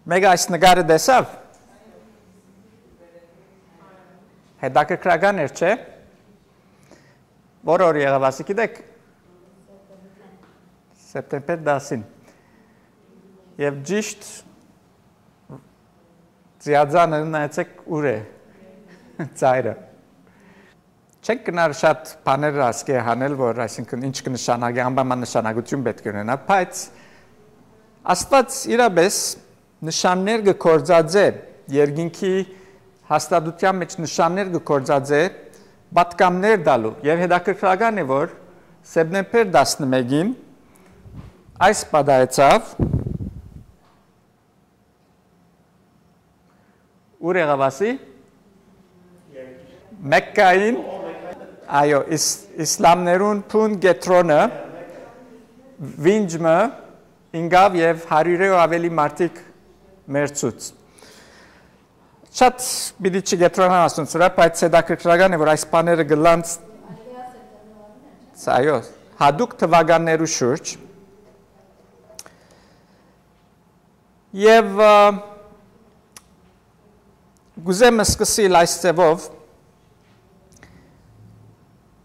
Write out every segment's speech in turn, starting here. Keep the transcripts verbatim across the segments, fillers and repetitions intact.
Մեկը այս նկարը տեսաւ։ Հետաքրքրական էր, չէ՞։ Որ օր եղաւ ասի, գիտեք։ Սեպտեմբեր տասին։ Եւ ճիշտ ձիածանը նայեցեք ուր է ծայրը։ Չենք գնար շատ բաներ ասկէ հանել, որ այսինքն ինչ կը նշանակի, անպայման նշանակություն պէտք է ունենա, բայց Աստուած իրապէս նշաններ կը գործածէ, երկինքի հաստատութեան մէջ նշաններ կը գործածէ պատգամներ տալու, եւ հետաքրքրական է, որ սեպտեմբեր տասնմէկին այս պատահեցաւ, ուր եղաւ ասի, Մեկկային, այո, իս-, իսլամներուն բուն կեդրոնը, վինջ մը ինկաւ եւ հարիւրէ ու աւելի մարդիկ մեռցուց։ Շատ պիտի չկեդրանամ ասոնց վրայ, բայց հետաքրքրական է, որ այս բաները կ'ըլլան, այո, հատուկ թուականներու շուրջ։ Եւ, ը, կ'ուզեմ սկսիլ այս ձեւով։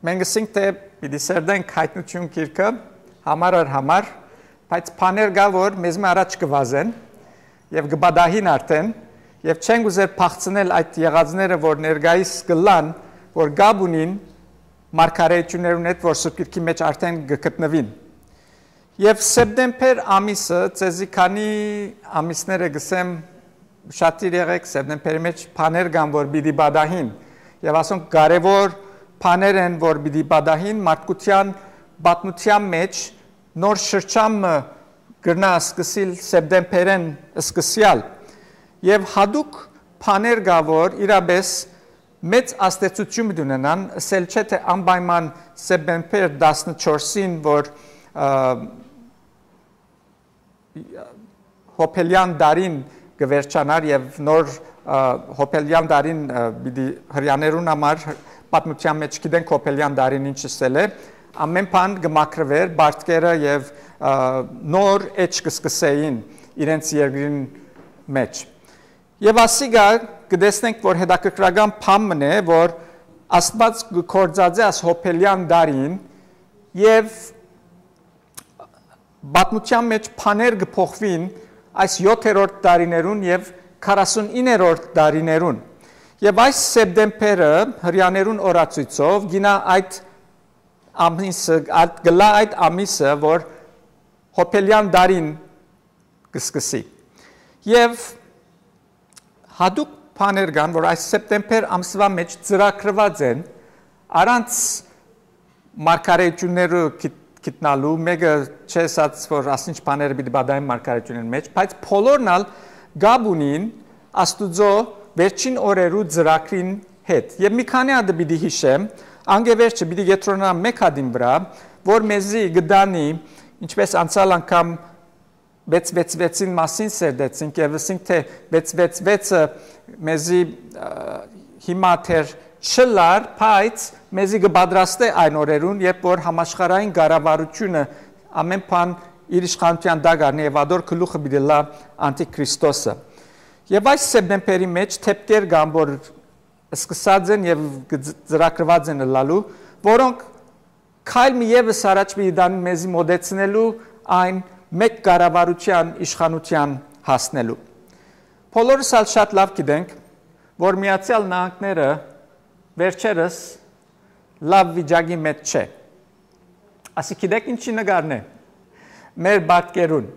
Մենք ըսինք, թէ պիտի սերտենք Հայտնութիւն գիրքը համար առ համար, բայց բաներ կայ, որ մեզմէ առաջ կը վազեն եւ կը պատահին արդէն, եւ չենք ուզեր փախցնել այդ եղածները, որ ներկայիս կ'ըլլան, որ կապ ունին մարգարէութիւններուն հետ, որ Սուրբ Գիրքի մէջ արդէն կը գտնուին։ Եւ սեպտեմբեր ամիսը, ձեզի քանի ամիսներ է կ'ըսեմ, ուշադիր եղէք, սեպտեմբերի մէջ բաներ կան, որ պիտի պատահին, եւ ասոնք կարեւոր բաներ են, որ պիտի պատահին մարդկութեան պատմութեան մէջ, նոր շրջան մը կրնայ սկսիլ սեպտեմբերէն սկսեալ, եւ հատուկ բաներ կայ, որ իրապէս մեծ ազդեցութիւն պիտի ունենան, ըսել չէ, թէ անպայման սեպտեմբեր տասնչորսին, որ, ը, Յոբելեան տարին կը վերջանար եւ նոր, ը, Յոբելեան տարին, ը, պիտի հրեաներուն համար պատմութեան մէջ գիտենք Յոբելեան տարին ինչ ըսել է, ամէն բան կը մաքրուէր, պարտքերը եւ, ը, նոր էջ կը սկսէին իրենց երկրին մէջ։ Եւ ասիկա կը տեսնենք, որ հետաքրքրական բան մըն է, որ Աստուած կը գործածէ աս Յոբելեան տարին եւ պատմութեան մէջ բաներ կը փոխուին այս յոթերորդ տարիներուն եւ քառասունիններորդ տարիներուն։ Եւ այս սեպտեմբերը հրեաներուն օրացոյցով գինա այդ ամիսը, այդ, գլա այդ ամիսը, որ Յոբելեան տարին կը սկսի։ Եւ հատուկ բաներ կան, որ այս սեպտեմբեր ամսուա մէջ ծրագրուած են, առանց մարգարեութիւնները գիտ-, գիտնալու, մէկը չէ ասած, որ ասինչ բաները պիտի պատահեն մարգարեութիւններուն մէջ, բայց բոլորն ալ կապ ունին Աստուծոյ վերջին օրերու ծրագրին հետ։ Եւ մի քանի հատը պիտի յիշեմ, անկէ վերջը պիտի կեդրոնամ մէկ հատին վրայ, որ մեզի կը տանի, ինչպէս անցյալ անգամ վեց վեց վեցին մասին սերտեցինք եւ ըսինք, թէ վեց վեց վեցը մեզի, ը, հիմա դեռ չլար, բայց մեզի կը պատրաստէ այն օրերուն, երբ որ համաշխարհային կառավարութիւնը ամէն բան իր իշխանութեան տակ առնի եւ ատոր գլուխը պիտի լա անտիքրիստոսը։ Եւ այս սեպտեմբերի մէջ դեպքեր կան, որ սկսած են եւ կը ձ-, ծրագրուած են ըլլալու, որոնք քայլ մը եւս առաջ պիտի տան մեզի մոտեցնելու այն մէկ կառավարութեան իշխանութեան հասնելու։ Բոլորս ալ շատ լաւ գիտենք, որ Միացեալ Նահանգները վերջերս լաւ վիճակի մէջ չէ։ Ասի, գիտեք ինչի նկարն է։ Մեր պարտքերուն։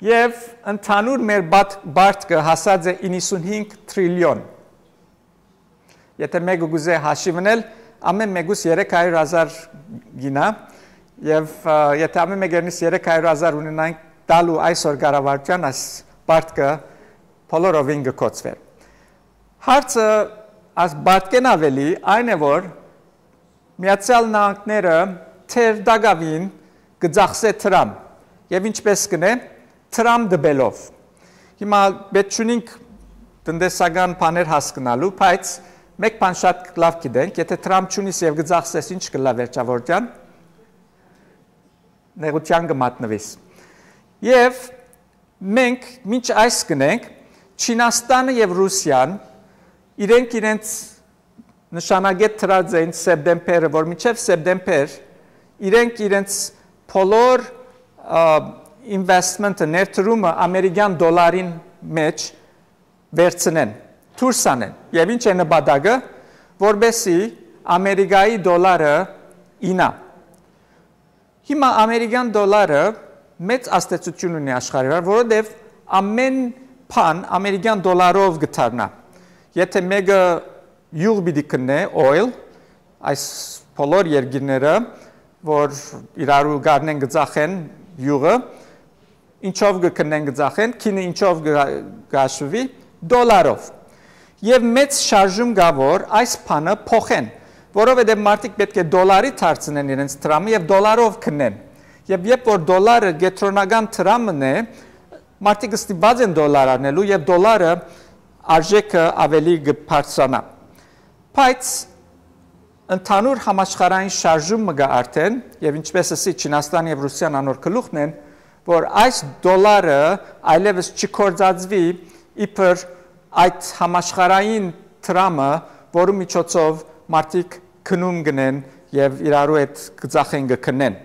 Եւ ընդհանուր մեր պատ-, պարտքը հասած է իննսունհինգ տրիլիոն։ Եթե մեկը կուզէ հաշիվնել, ամէն մեկուս երեք հարիւր հազար գինա, եւ, ը, եթե ամէն մեկերնիս երեք հարիւր հազար ունենանք տալու այսօր կառավարութեան, այս պարտքը բոլորովին կը կոչուէր։ Հարցը այս պարտքէն աւելի այն է, որ Միացեալ Նահանգները թեր տակաւին կը ծախսէ դրամ, եւ ինչպէս կ'ընէ, դրամ տուելով։ Հիմա պէտք չունինք տնտեսական բաներ հասկնալու, բայց մէկ բան շատ լաւ գիտենք, եթե դրամ չունիս եւ կը ծախսես, ինչ կ'ըլլայ վերջավորութեան, նեղութեան կը մատնուիս։ Եւ Մենք մինչ այս կ'ընենք, Չինաստանը եւ Ռուսիան իրենք իրենց նշանակետ դրած էին սեպտեմբերը, որ մինչեւ սեպտեմբեր իրենք իրենց բոլոր, ա, investment-ը, ներդրումը ամերիկյան դոլարին մեջ վերցնեն, դուրս անեն։ Եւ ինչ է նպատակը, որպեսզի Ամերիկայի դոլարը իյնայ։ Հիմա ամերիկյան դոլարը մեծ ազդեցություն ունի աշխարհի վրա, որովհետեւ ամէն բան ամերիկյան դոլարով կը դառնայ։ Եթէ մէկը իւղ պիտի գտնէ, oil, այս բոլոր երկիրները, որ իրարու գարնեն կը ծախեն իւղը, ինչով կը գտնեն, կը ծախեն, գինը ինչով կը, կը հաշուի, դոլարով։ Եւ մեծ շարժում կայ, որ այս բանը փոխեն, որովհետեւ մարդիկ պէտք է դոլարի դարձնեն իրենց դրամը եւ դոլարով գտնեն։ Եւ երբ որ դոլարը կեդրոնական դրամն է, մարդիկ ստիպված են դոլար առնելու եւ դոլարը արժեքը ավելի կը բարձրանայ։ Բայց ընդհանուր համաշխարհային շարժում մը կայ արդեն, եւ ինչպէս ըսի, Չինաստան եւ Ռուսիան անոր գլուխն են, որ այս դոլարը այլեւս չգործածուի իբր այդ համաշխարհային դրամը, որու միջոցով մարդիկ գնում կ'ընեն եւ իրարու հետ կը ծախեն, կը գտնեն։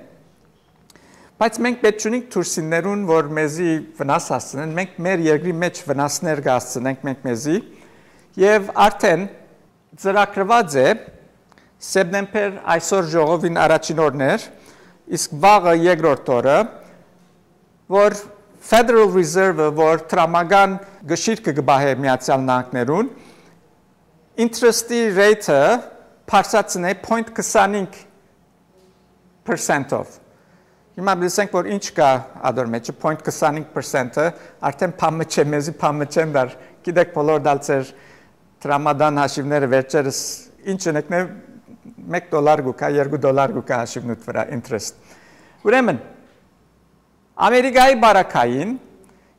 Բայց մենք պէտք չունենք դուրսիններուն, որ մեզի վնաս հասցնեն, մենք մեր երկրի մեջ վնասներ կ'հասցնենք մենք մեզի, եւ արդեն ծրագրուած է սեպտեմբեր, այսօր ժողովին առաջին օրն էր, իսկ վաղը երկրորդ օրը, որ Federal Reserve-ը, որ դրամական գշիրքը կը պահէ Միացյալ Նահանգներուն, interest-ի rate-ը բարձրացնէ point քսանինք percent-ով։ Հիմա լսենք, որ ինչ կայ ադոր մեջ, point քսանինք percent-ը, արդեն բան մը չէ, մեզի բան մը չեն դար, գիտեք, բոլոր դալ ձեր դրամատան հաշիվները վերջերս ինչ ընկնե, մեկ դոլար կու կայ, երկու դոլար կու կայ հաշիվնուդ վրա, interest։ Ուրեմն, Ամերիկայի բարակային,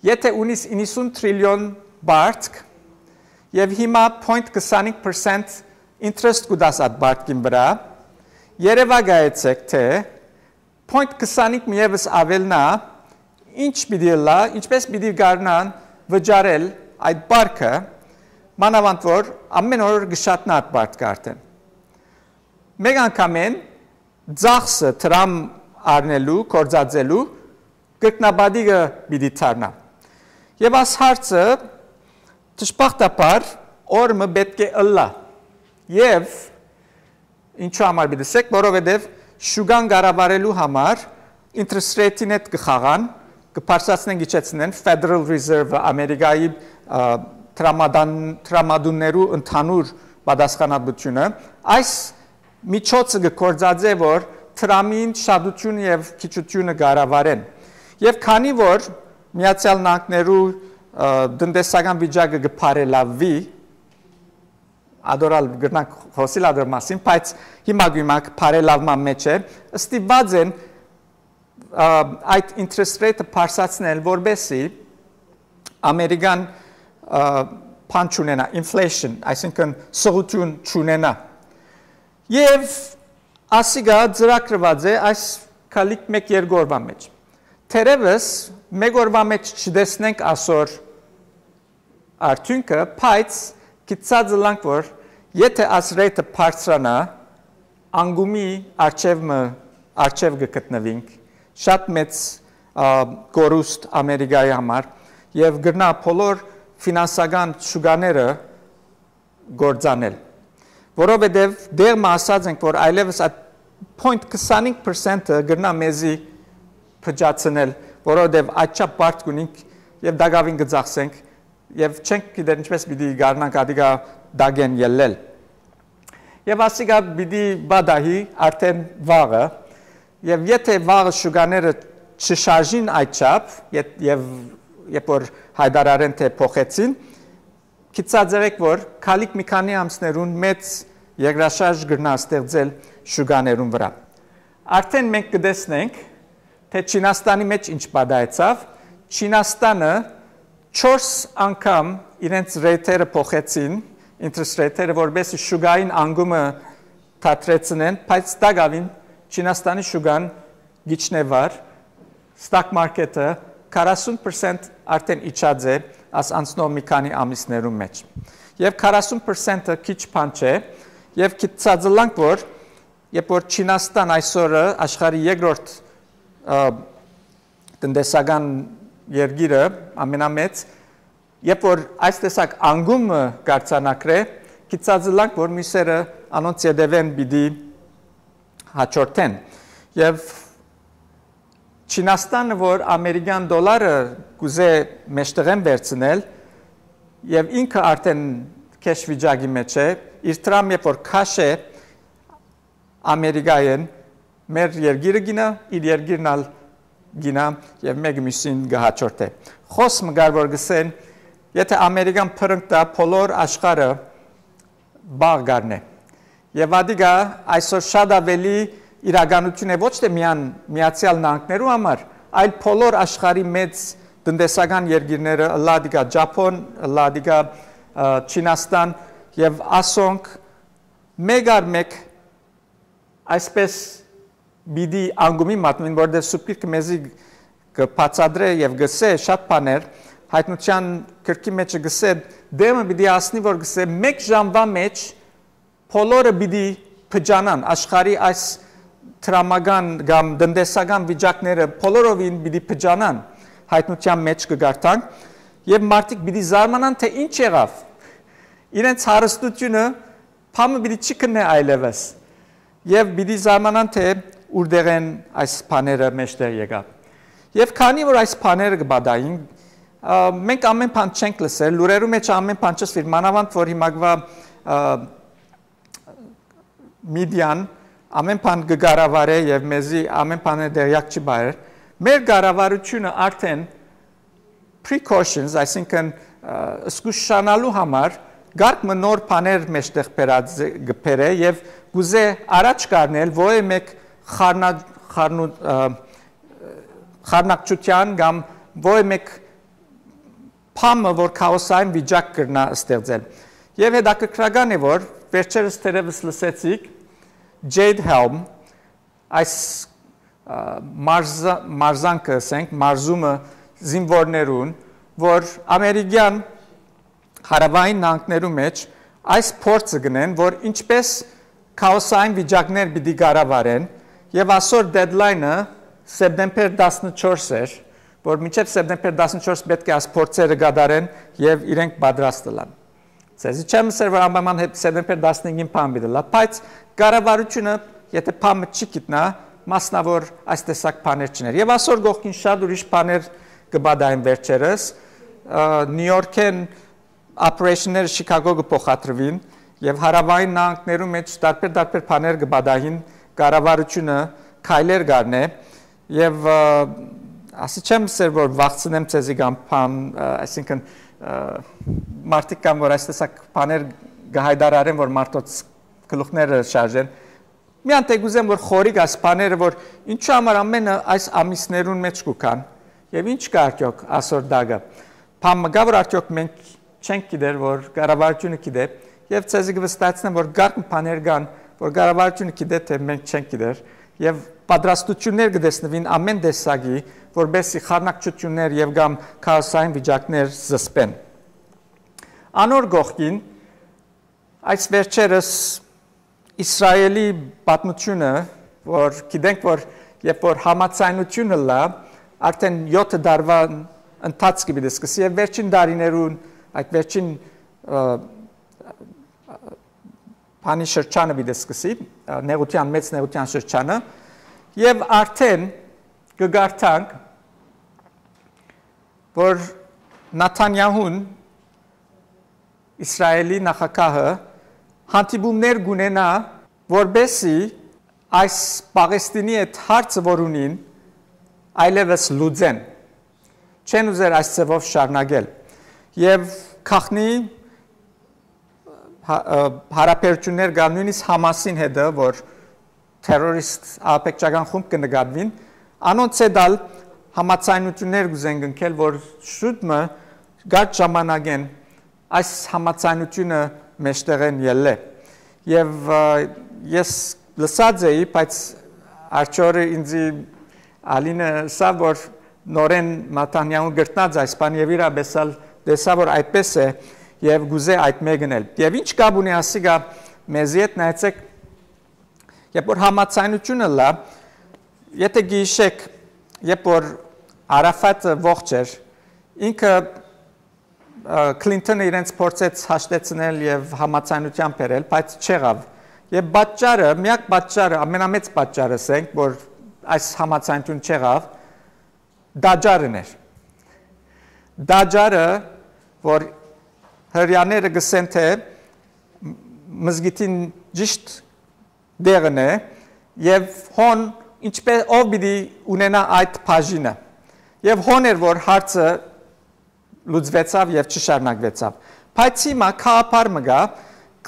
եթէ ունիս իննսուն տրիլիոն պարտք եւ հիմա point քսանինք percent interest կու տաս այդ պարտքին վրա, երեւակայեցեք թէ point քսանինք մը եւս աւելնայ, ինչ պիտի ըլլայ, ինչպէս պիտի կարնան վճարել այդ պարտքը, մանաւանդ որ ամէն օր կը շատնայ այդ պարտքը արդեն։ Մեկ անգամէն ծախսը դրամ առնելու, գործածելու կրկնապատիկը պիտի դառնայ։ Եւ այս հարցը դժբախտաբար օր մը պէտք է ըլլայ։ Եւ ինչու համար պիտի սեք, որովհետեւ շուկան կառավարելու համար interest rate-ին հետ կը խաղան, կը բարձրացնեն, գիչեցնեն Federal Reserve-ը, Ամերիկայի, ա, դրամատան-, դրամատուններու ընդհանուր պատասխանատվությունը։ Այս միջոցը կը գործածէ, որ դրամին շատութիւնը եւ քիչութիւնը կառավարեն։ Եւ քանի որ Միացյալ Նահանգներու, ը, տնտեսական վիճակը կը բարելավի, ադոր ալ կրնանք խօսիլ ադոր մասին, բայց հիմա գոյմակ բարելավման մեջ է, ստիպված են, ը, այդ interest rate-ը բարձրացնել, որպեսզի ամերիկան, ը, բան չունենայ, inflation, այսինքն՝ սղութիւն չունենայ։ Եւ ասիկա ծրագրուած է այս քալիք մէկ երկու օրուան մեջ։ Թերեւս մէկ օրուան մեջ չտեսնենք ասոր արդիւնքը, բայց գիտցած ըլանք, որ եթէ այս rate-ը բարձրանայ, անկումի առջեւ մը, առջեւ կը գտնուինք, շատ մեծ, ա, կորուստ Ամերիկայի համար, եւ կրնայ բոլոր ֆինանսական շուկաները գործանել, որովհետեւ դեղ մը ասած ենք, որ այլեւս այդ point քսանինք percent-ը կրնայ մեզի փճացնել, որովհետեւ այդչափ պարտք ունինք եւ դակաւին կը ծախսենք, եւ չենք գիտեր ինչպես պիտի կարնանք ադիկա դակեն ելլել։ Եւ ասիկա պիտի պատահի արդեն վաղը, եւ եթէ վաղը շուկաները չշարժին այդչափ, եթ-, եւ երբ որ հայտարարեն, թէ փոխեցին, գիտցած եղեք, որ քալիք մի քանի ամսներուն մեծ երկրաշարժ կրնայ ստեղծել շուկաներուն վրա։ Արդեն մենք կտեսնենք, թէ Չինաստանի մեջ ինչ պատահեցաւ։ Չինաստանը չորս անգամ իրենց rate-երը փոխեցին, interest rate-երը, որպեսզի շուկային անկումը դադրեցնեն, բայց տակաւին Չինաստանի շուկան գիչնե վար, stock market-ը քառասուն պրսենտ արդեն իջած է այս անցնող մի քանի ամիսներուն մէջ։ Եւ քառասուն պրսենտը քիչ բան չէ, եւ գիտցածլանք, որ երբ որ Չինաստան այսօրը աշխարհի երկրորդ, ը, տնտեսական երկիրը ամենամեծ, երբ որ այս տեսակ անկումը կարձանագրէ, գիտցածլանք, որ մյուսերը անոնց ետևէն պիտի հաջորդեն։ Եւ Չինաստանը, որ ամերիկյան դոլարը կուզէ մեջտեղեն վերցնել, եւ ինքը արդեն քեշ վիճակի մէջ է, իր դրամ երբ որ քաշ է Ամերիկայէն, մեր երկիրը գինա, իր երկիրն ալ գինա, եւ մէկը մյուսին կը հաջորդէ։ Խօս մը կար, որ կ'ըսեն, եթե Ամերիկան փրնկտայ, բոլոր աշխարհը պաղ կ'առնէ։ Եւ ատիկա այսօր շատ աւելի իրականութիւն է ոչ թէ միայն Միացեալ Նահանգներու համար, այլ բոլոր աշխարհի մեծ տնտեսական երկիրները, ըլլայ ատիկա Ճափոն, ըլլայ ատիկա, ը, Չինաստան, եւ ասոնք մէկ առ մէկ այսպես պիտի անկումի մատնուին, որովհետեւ Սուրբ Գիրքը մեզի կը բացատրէ եւ կ'ըսէ շատ բաներ, Հայտնութեան գրքի մէջ կ'ըսէ, դէմը պիտի հասնի, որ կ'ըսէ, մէկ ժամուա մէջ բոլորը պիտի փճանան, աշխարհի այս դրամական կամ տնտեսական վիճակները բոլորովին պիտի փճանան, Հայտնութեան մէջ կը կարդանք, եւ մարդիկ պիտի զարմանան, թէ ինչ եղաւ։ Իրենց հարստութիւնը բան մը պիտի չի քննէ այլեւս։ Եւ պիտի զարմանան, թէ ուրտեղէն այս բաները մէջտեղ եկան։ Եւ քանի որ այս բաները կը պատահին, ա, մենք ամեն բան չենք լսեր, լուրերու մէջ ամեն բան չըսուիր, մանաւանդ որ հիմակվա, ա, media-ն ամեն բան կը կառավարէ եւ մեզի ամեն բանը տեղյակ չի բարեր։ Մեր կառավարութիւնը արդեն precautions, այսինքն, ա, զգուշանալու համար կարգ մը նոր բաներ մէջտեղ բերած է, կը բերէ եւ կուզէ առաջ կառնել ովե մէկ խառնա-, խառնու-, ա, խառնակցութեան կամ ովե մէկ բան մը, որ քաոսային վիճակ կրնայ ստեղծել։ Եւ հետաքրքրական է, որ վերջերս թերեւս լսեցիք Jade Helm, այս, ա, մարզա-, մարզանքը, ասենք, մարզումը զինուորներուն, որ ամերիկյան հարաւային նահանգներու մէջ այս փորձը կ'ընեն, որ ինչպես քաոսային վիճակներ պիտի կառավարեն, եւ ասոր deadline-ը սեպտեմբեր տասնչորս էր, որ մինչեւ սեպտեմբեր տասնչորս պէտք է այս փորձերը կատարեն եւ իրենք պատրաստ ըլլան։ Ձեզի չեմ ըսեր, որ անպայման հետ սեպտեմբեր տասնհինգին բան պիտի ըլլայ, բայց կառավարութիւնը, եթե բան մը չի գիտնայ, մասնաւոր այս տեսակ բաներ չուներ։ Եւ ասոր կողքին շատ ուրիշ բաներ կը պատահեն վերջերս, ը, Նիու Յորքէն operation-ները Շիքագո կը փոխադրուին եւ հարաւային նահանգներու մէջ տարբեր-տարբեր բաներ կը պատահին, կառավարութիւնը քայլեր կ'առնէ եւ, ը, ասի չեմ ըսեր, որ վախցնեմ ձեզի կամ բան, ը, այսինքն, ը, մարդիկ կան, որ այս տեսակ բաներ կը հայտարարեն, որ մարդոց գլուխները շարժեն։ Միան թէ կ'ուզեմ, որ խորիկ այս բաները, որ ինչու համար ամենը այս ամիսներուն մէջ կու գան եւ ինչ կա արդյոք ասոր տակը։ Բան մը կա, որ արդյոք մենք չենք գիտեր, որ կառավարութիւնը գիտէ, եւ ձեզի կը վստահեցնեմ, որ կարգ բաներ կան, որ կառավարութիւնը գիտէ, թէ մենք չենք գիտեր, եւ պատրաստութիւններ կը տեսնուին ամեն տեսակի, որպեսզի խառնակցութիւններ եւ կամ քաոսային վիճակներ զսպեն։ Անոր կողքին, այս վերջերս Իսրայելի պատմութիւնը, որ գիտենք, որ երբ որ համաձայնութիւնը լա, արդեն յոթը տարուան ընթացքը պիտի սկսի եւ վերջին տարիներուն, այդ վերջին, ը, բանի շրջանը պիտի սկսի, ը, նեղութեան, մեծ նեղութեան շրջանը, եւ արդեն կը կարդանք, որ Նաթանյահուն, Իսրայելի նախագահը, հանդիպումներ կունենայ, որպեսզի այս Պաղեստինի այդ հարցը, որ ունին, այլեւս լուծեն։ Չեն ուզեր այս ձևով շարունակել։ Եւ գաղտնի հա-, ը, հարաբերություններ կա նույնիսկ Համասին հետը, որ թերորիստ ահաբեկչական խումբ կը նկատուին, անոնց հետ ալ համաձայնություններ կ'ուզեն կնքել, որ շուտ մը կարճ ժամանակեն այս համաձայնությունը մեջտեղեն ելլէ։ Եւ, ը, ես լսած էի, բայց արջորը ինձի Ալինը ըսաւ, որ նորէն Նաթանյահուն կրթնած այս բան եւ իրապէս ալ տեսայ որ այդպէս է եւ կ'ուզէ այդ մէկն էլ։ Եւ ինչ կապ ունի ասիկա մեզի հետ, նայեցէք, երբ որ համաձայնությունը լա, եթե գիշեք, երբ որ Արաֆատը ողջ էր, ինքը, ը, Քլինթոնը իրենց փորձեց հաշտեցնել եւ համաձայնության բերել, բայց չեղաւ։ Եւ պատճառը, միակ պատճառը, ամենամեծ պատճառը, ասենք, որ այս համաձայնություն չեղաւ, տաճարն էր։ Տաճարը, որ հրեաները գսեն, թե մզկիթին ճիշտ տեղն է, եւ հոն ինչպէ-, ով պիտի ունենայ այդ բաժինը։ Եւ հոն էր, որ հարցը լուծուեցաւ եւ չշարունակուեցաւ։ Բայց հիմա գաղափար մը կայ,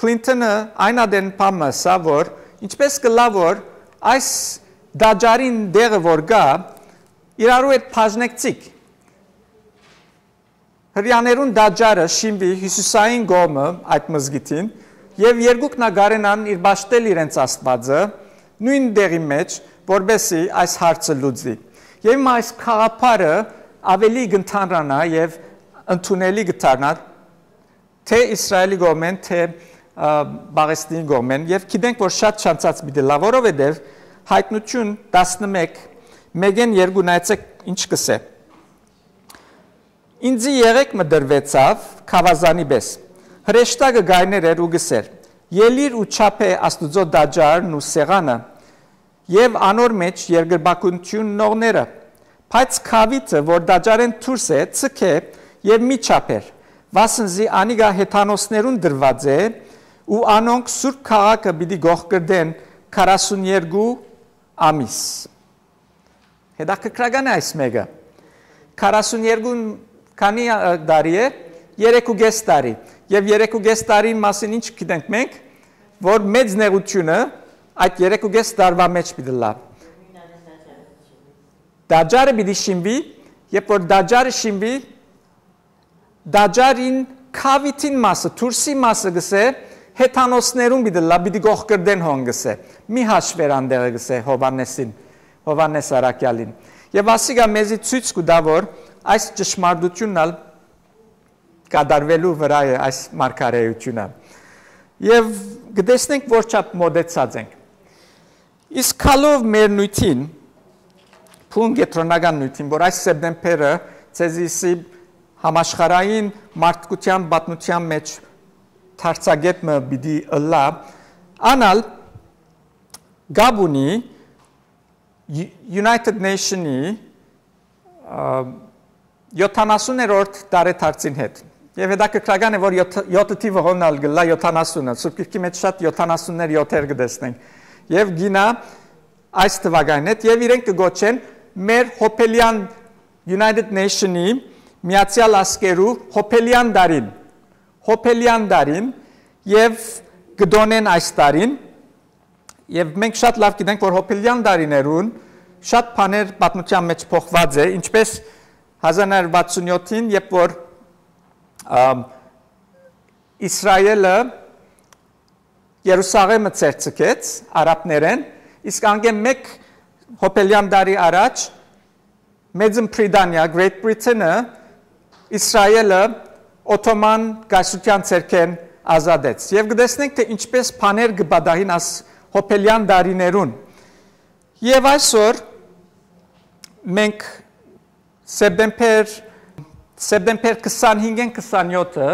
Քլինթոնը այն ատեն բան մը ըսաւ, որ ինչպէս կ'ըլլայ, որ այս տաճարին տեղը որ կայ, իրարու հետ բաժնեցիք։ Հրեաներուն տաճարը շինուի հիւսիսային կողմը այդ մզկիթին, եւ երկուքն ալ կարենան իր պաշտել իրենց Աստուածը նոյն տեղի մէջ, որպէսզի այս հարցը լուծի։ Եւ հիմա այս գաղափարը աւելի կ'ընդհանրանայ եւ ընդունելի կը դառնայ թէ Իսրայէլի կողմէն, թէ, ը, Պաղեստինի կողմէն, եւ գիտենք որ շատ չանցած պիտի ըլլայ, որովհետեւ Յայտնութիւն տասնմէկ, մէկէն երկու, նայեցէք ինչ կ'ըսէ. «Ինծի եղէգ մը տրուեցաւ գաւազանի պէս։ Հրեշտակը կայներ էր ու կ'ըսէր. "Ելի՛ր ու չափէ Աստուծոյ տաճարն ու սեղանը եւ անոր մէջ երկրպագութիւնն ողները"։ Բայց գաւիթը, որ տաճարէն դուրս է, ձգէ եւ մի չափէր, վասն զի անիկա հեթանոսներուն տրուած է ու անոնք սուրբ քաղաքը պիտի կոխկռտեն քառասուն երկու ամիս"։ Հետաքրքրական է այս մէկը։ Քառասուն երկու քանի, ը, տարի է, երեք ու կէս տարի։ Եւ երեք ու կէս տարին մասին ինչ գիտենք մենք, որ մեծ նեղութիւնը այդ երեք ու կէս տարուա մէջ պիտի լա։ Տաճարը պիտի շինուի, երբ որ տաճարը շինուի, տաճարին քաւիթին մասը, դուրսի մասը գսէ, հեթանոսներուն պիտի լա, պիտի կոխկրտեն հոն գսէ։ Մի հաշվեր անդեղը գսէ Հովհաննեսին, Հովհաննես Առաքյալին։ Եւ ասիկա մեզի ցոյց կու տայ, որ այս ճշմարտութիւնն ալ կատարուելու վրայ է այս մարգարէութիւնը։ Եւ կտեսնենք որ չափ մոտեցած ենք։ Իսկ գալով մեր նիւթին, փուն կեդրոնական նիւթին, որ այս սեպտեմբերը ձեզի սի համաշխարհային մարդկության պատմության մէջ դարձակետ մը պիտի ըլլայ, անալ կապ ունի United Nation-ի, ը, յոթանասուներորդ տարեդարձին հետ։ Եւ հետաքրքրական է, որ յոթ-, յոթը թիվը հոն ալ կ'ըլլայ յոթանասունը։ Սուրբ Գիրքի մէջ շատ յոթանասուններ, յոթեր կը տեսնենք։ Եւ գինա այս թվականին հետ, եւ իրենք կը գոչեն մեր հոբելեան United Nation-ի, Միացեալ Ազգերու հոբելեան տարին, հոբելեան տարին, եւ կը տօնեն այս տարին, եւ մենք շատ լաւ գիտենք, որ հոբելեան տարիներուն շատ բաներ պատմության մէջ փոխուած է, ինչպես հազար նոյ հարիւր վաթսուն յոթին, երբ որ, ամ, Իսրայէլը Երուսաղէմը ձեռք ձգեց արաբներէն, իսկ անկէ մէկ հոբելեան տարի առաջ Մեծն Բրիտանիա, Great Britain-ը, Իսրայէլը Օթոման կայսրութեան ձեռքէն ազատեց։ Եւ կտեսնենք, թէ ինչպէս բաներ կը պատահին աս հոբելեան տարիներուն։ Եւ այսօր մենք սեպտեմբեր, սեպտեմբեր քսանհինգէն քսանյոթը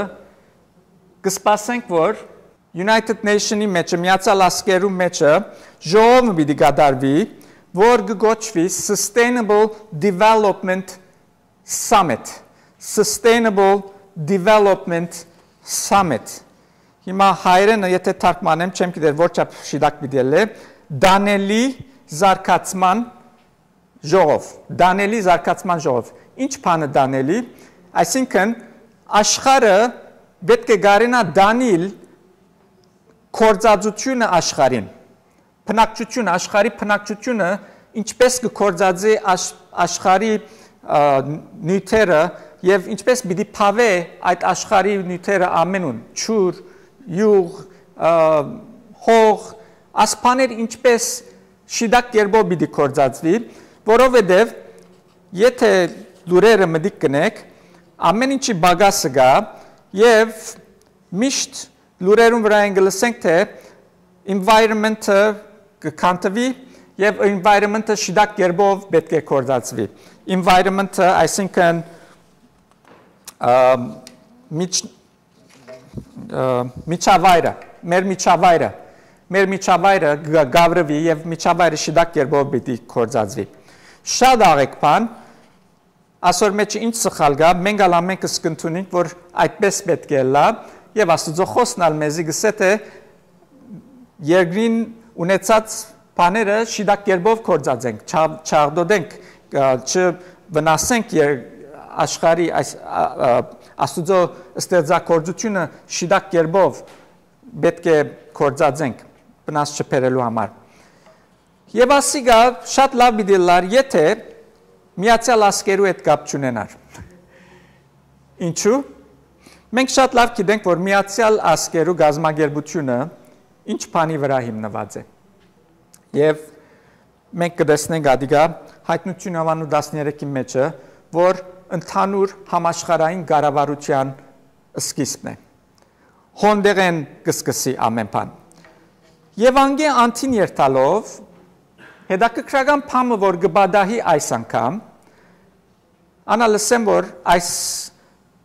կը սպասենք, որ United Nation-ի մէջը, Միացեալ Ազգերու մէջը ժողովը պիտի կատարուի, որ կը կոչուի Sustainable Development Summit, Sustainable Development Summit։ Հիմա հայերէնը, եթե թարգմանեմ, չեմ գիտեր որ չափ շիտակ պիտի ելլէ, տանելի զարգացման ժողով, տանելի զարգացման ժողով։ Ինչ բանը տանելի, այսինքն աշխարհը պէտք է կարենայ տանիլ գործածութիւնը աշխարհին, բնակչությունը, աշխարհի բնակչությունը ինչպէս կը գործածի աշ-, աշխարհի, ա, նիւթերը եւ ինչպէս պիտի բաւէ այդ աշխարհի նիւթերը ամենուն, ջուր, իւղ, ա, հող, ասպաներ ինչպէս շիտակ կերպով պիտի գործածուի, որովհետեւ Եթէ լուրերը մտիկ կնեք, ամէն ինչի պակասը կայ, եւ միշտ լուրերուն վրայէն կը լսենք թէ environment-ը կը քանդուի եւ environment-ը շիտակ կերպով պէտք է գործածուի։ Environment-ը, այսինքն, ը, միջ-, ը, միջավայրը, մեր միջավայրը, մեր միջավայրը կը գ-, գավրուի եւ միջավայրը շիտակ կերպով պիտի գործածուի։ Շատ աղեկ բան, ասոր մեջ ինչ սխալ կայ, մենք ալ ամենքս կ'ընդունենք, որ այդպես պէտք է ըլլայ, եւ Աստուծոյ խօսքն ալ մեզի կ'ըսէ թէ երկրին ունեցած բաները շիտակ կերպով գործածենք, չաղ-, չաղտոտենք, ը, չվնասենք եր-, աշխարհի այս, ա, ա, Աստուծոյ ստեղծագործութիւնը շիտակ կերպով պէտք է գործածենք, վնաս չբերելու համար։ Եւ ասիկա շատ լաւ պիտի ըլլար, եթէ Միացեալ Ազգերու հետ կապ չունենար։ Ինչու՞։ Մենք շատ լաւ գիտենք, որ Միացեալ Ազգերու կազմակերպութիւնը ինչ բանի վրայ հիմնուած է։ Եւ մենք կը տեսնենք ադիկա Հայտնութիւն աւանու տասներեքի մէջը, որ ընդհանուր համաշխարհային կառավարութեան սկիզբն է։ Հոն տեղէն կը սկսի ամէն բան։ Եւ անկէ անդին երթալով, հետաքրքրական բանը, որ կը պատահի այս անգամ, անա լսեմ, որ այս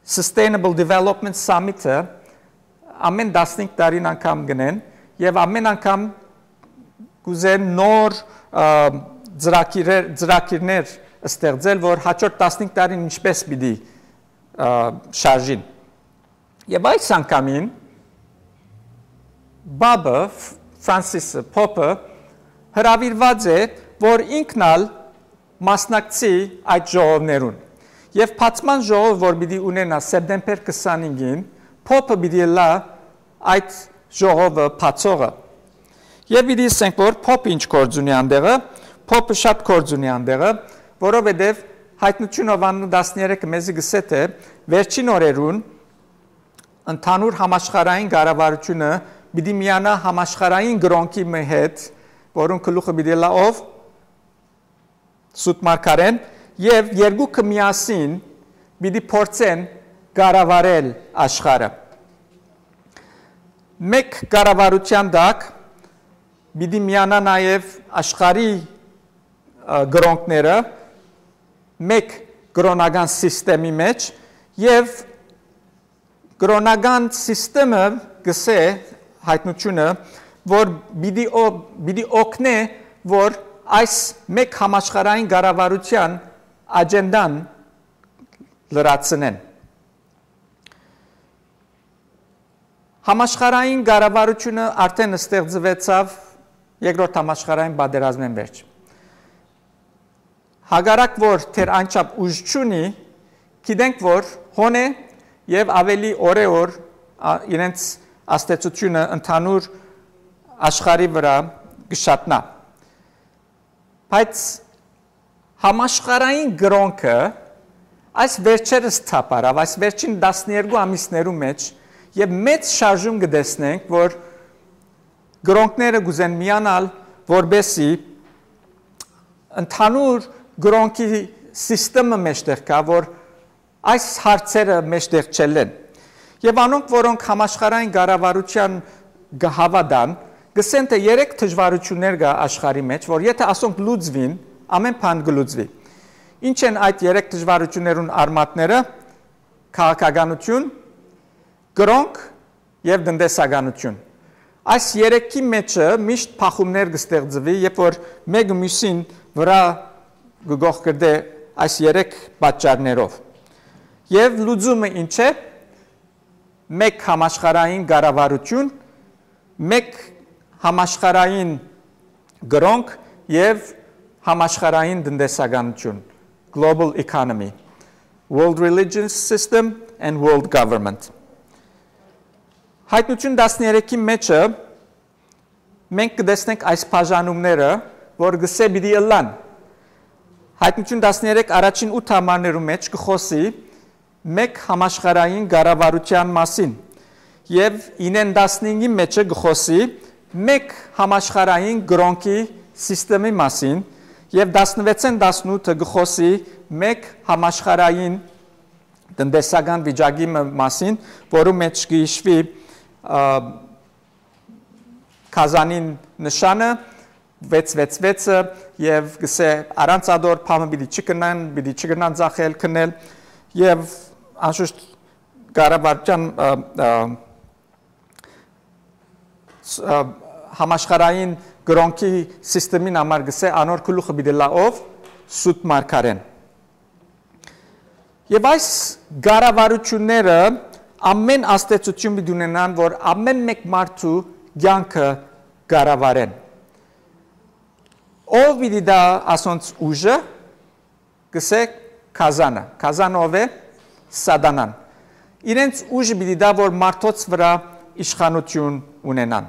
Sustainable Development Summit-ը ամէն տասնհինգ տարին անգամ կ'ընեն եւ ամէն անգամ կ'ուզեն նոր, ը, ծրագիրեր, ծրագիրներ ստեղծել, որ հաջորդ տասնհինգ տարին ինչպես պիտի, ը, շարժին։ Եւ այս անգամին Պապը, Ֆ-, Ֆրանսիսը, Պոպը հրաւիրուած է, որ ինքն ալ մասնակցի այդ ժողովներուն։ Եւ բացման ժողովը, որ պիտի ունենայ սեպտեմբեր քսանհինգին, Պոպը պիտի ըլլայ այդ ժողովը բացողը։ Եւ պիտի ասենք, որ Պոպը ինչ գործ ունի անտեղը, Պոպը շատ գործ ունի անտեղը, որովհետեւ Հայտնութիւն աւանու տասներեքը մեզի կ'ըսէ թէ վերջին օրերուն ընդհանուր համաշխարհային կառավարութիւնը պիտի միանայ համաշխարհային կրօնքի մը հետ, որուն գլուխը պիտի ըլլայ ով, Սուտ Մարգարէն, եւ երկուքը միասին պիտի փորձեն կառավարել աշխարհը։ Մէկ կառավարութեան տակ պիտի միանայ նաեւ աշխարհի, ը, կրօնքները, մէկ կրօնական սիստեմի մէջ, եւ կրօնական սիստեմը կ'ըսէ Հայտնութիւնը, որ պիտի օ-, պիտի օգնէ, որ այս մէկ համաշխարհային կառավարութեան աջենդան լրացնեն։ Համաշխարհային կառավարութիւնը արդէն ստեղծուեցաւ երկրորդ համաշխարհային պատերազմէն վերջ։ Հակառակ որ դեռ անչափ ուժ չունի, գիտենք, որ հոն է եւ աւելի օրէ օր, ա, իրենց ազդեցութիւնը ընդհանուր աշխարհի վրայ կը շատնայ։ Բայց համաշխարհային կրօնքը այս վերջերս թափառաւ, այս վերջին տասներկու ամիսներու մէջ, եւ մեծ շարժում կը տեսնենք, որ կրօնքները կ'ուզեն միանալ, որպեսզի ընդհանուր կրօնքի սիստեմը մեջտեղ գայ, որ այս հարցերը մեջտեղ չելլեն։ Եւ անոնք, որոնք համաշխարհային կառավարութեան կը հաւատան, կ'ըսեն թէ երեք դժուարութիւններ կայ աշխարհի մէջ, որ եթէ ասոնք լուծուին, ամէն բան կը լուծուի։ Ի՞նչ են այդ երեք դժուարութիւններուն արմատները։ Քաղաքականութիւն, կրօնք եւ տնտեսականութիւն։ Այս երեքի մէջը միշտ բախումներ կը ստեղծուի, երբ որ մէկը միւսին վրայ կը կոխկրտէ այս երեք պատճառներով։ Եւ լուծումը ի՞նչ է։ Մէկ համաշխարհային կառավարութիւն, մէկ համաշխարհային կրօնք եւ համաշխարհային տնտեսականութիւն, global economy, world religious system and world government։ Հայտնութիւն տասներեքի մէջը մենք կը տեսնենք այս բաժանումները, որ կ'ըսէ պիտի ըլլան։ Հայտնութիւն տասներեք առաջին ութ համարներու մէջ կը խօսի մէկ համաշխարհային կառավարութեան մասին եւ ինեն տասնհինգի մէջը կը խօսի մէկ համաշխարհային կրօնքի սիստեմի մասին Եւ տասնվեցէն տասնութը կը խօսի մէկ համաշխարհային տնտեսական վիճակի մը մասին, որու մէջ կը յիշուի, ը, Կազանին նշանը, վեց վեց վեցը, եւ կսէ, առանց ադոր փամը պիտի չկնան, պիտի չկնան ձախել, քնել, եւ անշուշտ կառավարչական, ը, ը, ս-, ը, համաշխարհային կրօնքի սիստեմին համար կսէ, անոր գլուխը պիտի լա ով, սուտ մարգարեն։ Եւ այս կառավարութիւնները ամեն ազդեցութիւն պիտի ունենան, որ ամեն մէկ մարդու կյանքը կառավարեն։ Ով պիտի դա ասոնց ուժը, կսէ, Կազանը։ Կազանը ով է? Սատանան։ Իրենց ուժը պիտի դա, որ մարդոց վրայ իշխանութիւն ունենան։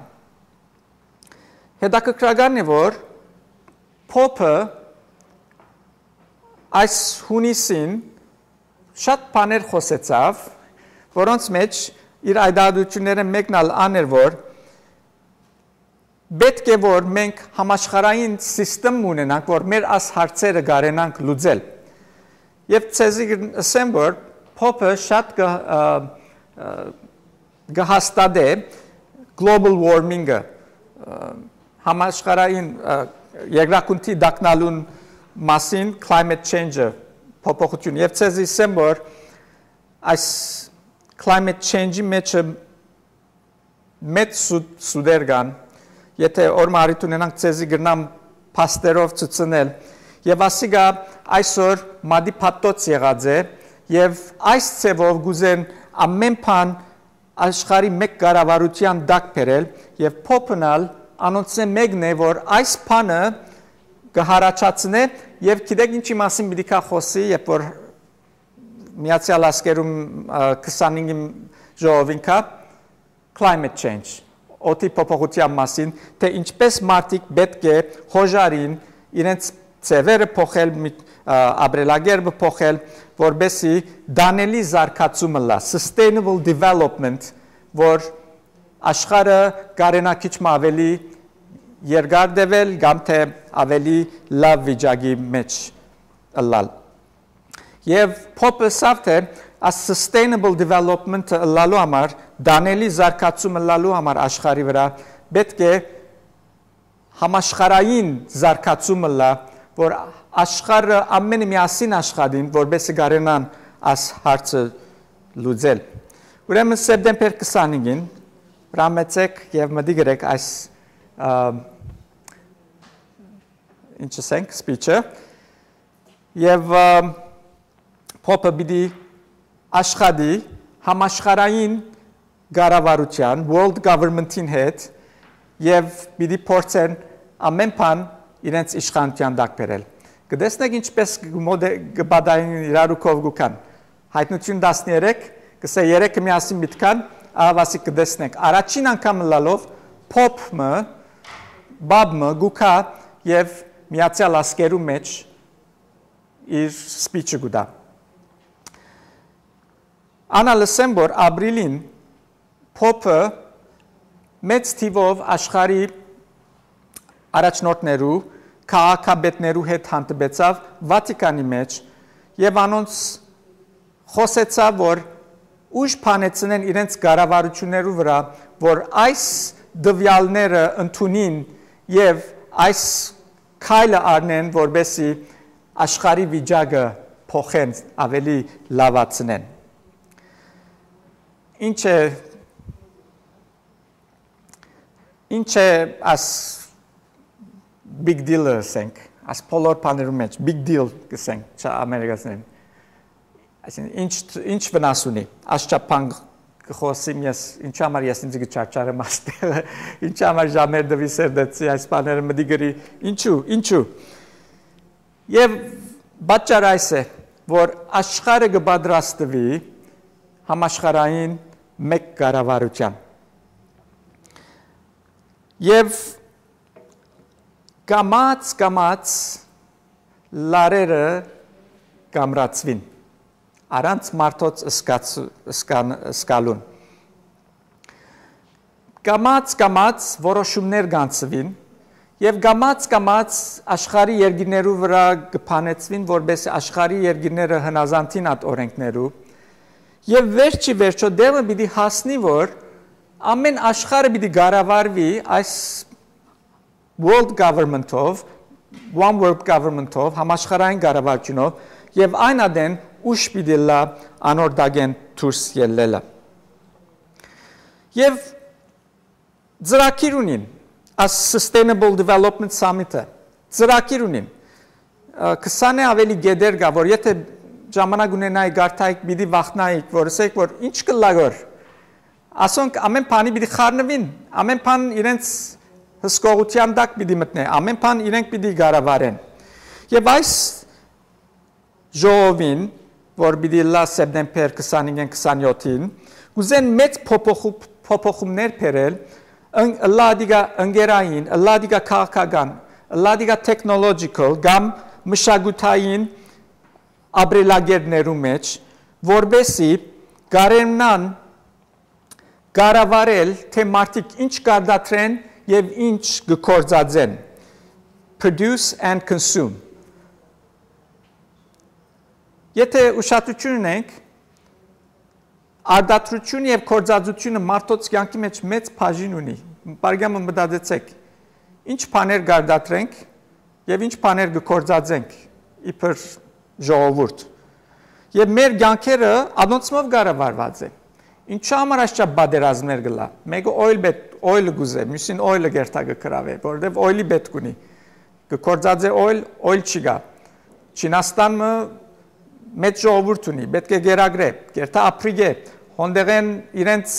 Հետաքրքրական է, որ Փոփը այս հունիսին շատ բաներ խօսեցաւ, որոնց մէջ իր այդայդությունները մեկն ալ ան էր, որ պէտք է, որ մենք համաշխարհային սիստեմ ունենանք, որ մեր աս հարցերը կարենանք լուծել։ Եւ ցեզի ըսեմ, որ Փոփը շատ կը, ը, ը, կը հաստատէ global warming-ը, ը, համաշխարհային, ը, երկրագունդի տագնալուն մասին, climate change-ը, փոփոխություն։ Եւ ցեզի ըսեմ, որ այս climate change-ի մեջը մեծ սուտ-, սուտեր կան, եթե օրը մը առիթ ունենանք, ցեզի կրնամ փաստերով ցուցնել, եւ ասիկա այսօր մատի փաթթոց եղած է, եւ այս ձևով կուզեն ամեն բան աշխարհի մէկ կառավարութեան տակ բերել, եւ Փոփն ալ անոնցմէ մեկն է, որ այս բանը կը յառաջացնէ, եւ գիտեք ինչի մասին պիտի կայ խօսի, երբ որ Միացեալ Ազգերում, ը, քսանհինգին ժողովին կայ, climate change, օդի փոփոխութեան մասին, թէ ինչպէս մարդիկ պէտք է յօժարին իրենց ձեւերը փոխել, մի, ը, ապրելակերպը փոխել, որպեսզի տանելի զարգացում ըլլայ, sustainable development, որ աշխարհը կարենայ քիչ մը աւելի երկար տեւել կամ թէ աւելի լաւ վիճակի մէջ ըլլալ։ Եւ Փոփը ըսաւ թէ այս sustainable development-ը ըլլալու համար, տանելի զարգացում ըլլալու համար աշխարհի վրայ պէտք է համաշխարհային զարգացում ըլլայ, որ աշխարհը ամէնքը միասին աշխատին, որպեսզի կարենան այս հարցը լուծել։ Ուրեմն սեպտեմբեր քսանհինգին հրամեցէք եւ մտիկ ըրեք այս, ը, ինչ ասենք, speech-ը, եւ, ը, Փոփը պիտի աշխատի համաշխարհային կառավարութեան, world government-ին հետ, եւ պիտի փորձեն ամեն բան իրենց իշխանութեան տակ բերել։ Կտեսնեք ինչպէս կը մոդե-, կը պատահին իրարու քով կու գան։ Հայտնություն տասներեք, կսէ երեքը միասին պիտի գան, ահա ասիկ կտեսնեք։ Առաջին անգամ ըլլալով Փոփ մը, Բաբ մը կու գայ եւ Միացեալ Ազգերու մէջ իր speech-ը կու տայ։ Ան ալ ըսեմ, որ ապրիլին Փոփը մեծ թիւով աշխարհի առաջնորդներու, քաղաքապետներու հետ հանդիպեցաւ Վատիկանի մէջ եւ անոնց խօսեցաւ, որ ուժ բանեցնեն իրենց կառավարութիւններու վրայ, որ այս տուեալները ընդունին եւ այս քայլը առնեն, որպեսզի աշխարհի վիճակը փոխեն, աւելի լաւացնեն։ Ինչ է, ինչ է աս big deal-ը, ասենք, աս բոլոր բաներու մէջ, big deal, կ'ըսենք, չա-, ամերիկացիներէն։ Այսինքն, ինչ, ինչ վնաս ունի, աս չափ բան կը խօսիմ ես, ինչու համար ես ինձ կը չարչարեմ այստեղ, ինչու համար ժամեր տուի սերտեցի այս բաները մտի գրի, ինչու, ինչու։ Եւ պատճառ այս է, որ աշխարհը կը պատրաստուի համաշխարհային մէկ կառավարութեան։ Եւ կամաց, կամաց լարերը կամրացուին, առանց մարդոց սկաց-, սկան-, սկալուն։ Կամաց, կամաց որոշումներ կանցուին Եւ կամաց կամաց աշխարհի երկիրներու վրայ կը փանեցուին, որպէս աշխարհի երկիրները հնազանդին այդ օրենքներու։ Եւ վերջի վերջո դերը պիտի հասնի, որ ամէն աշխարհը պիտի կառավարուի այս world government-ով, one world government-ով, համաշխարհային կառավարութիւնով, եւ այն ատեն ուշ պիտի լա անոր տակէն դուրս ելլելը։ Եւ ծրագիր ունին, այս Sustainable Development Summit-ը, ծրագիր ունին։ Ը, քսանէ աւելի գետեր կայ, որ եթե ժամանակ ունենայիք, կարդայիք, պիտի վախնայիք, որ ասեք, որ ինչ կլա գոր։ Ասոնք ամէն բանի պիտի խառնուին, ամէն բան իրենց հսկողութեան տակ պիտի մտնէ, ամէն բան իրենք պիտի կառավարեն։ Եւ այս ժողովին, որ պիտի ըլլայ սեպտեմբեր քսանհինգ քսանյոթին, կ'ուզեն մեծ փոփոխու-, փոփոխումներ բերել, ըն-, ըլլայ ատիկա ընկերային, ըլլայ ատիկա քաղաքական, ըլլայ ատիկա technological կամ մշակութային ապրելակերպներու մէջ, որպէսզի կարենան կառավարել, թէ մարդիկ ինչ կարտադրեն եւ ինչ կը գործածեն, produce and consume։ Եթե ուշադրություն ունենք, արտադրութիւնը եւ գործածութիւնը մարդոց կեանքի մէջ մեծ բաժին ունի։ Պարգամը մտածեցեք, ինչ բաներ կարտադրենք եւ ինչ բաներ կը գործածենք իբր ժողովուրդ։ Եւ մեր կեանքերը անոնցմով կառավարուած է։ Ինչու՞ համար այսչափ պատերազմներ կ'ըլլայ։ Մէկը օյլ պետ-, օյլը կ'ուզէ, միւսին օյլը կերթա կը կրաւէ, որովհետեւ օյլի պէտք ունի։ Կը գործածէ օյլ, օյլ չի գայ։ Չինաստանը մեծ ժողովուրդ ունի, պէտք է գերագրէ, կերթա ապրիգէ, հոնդեղեն իրենց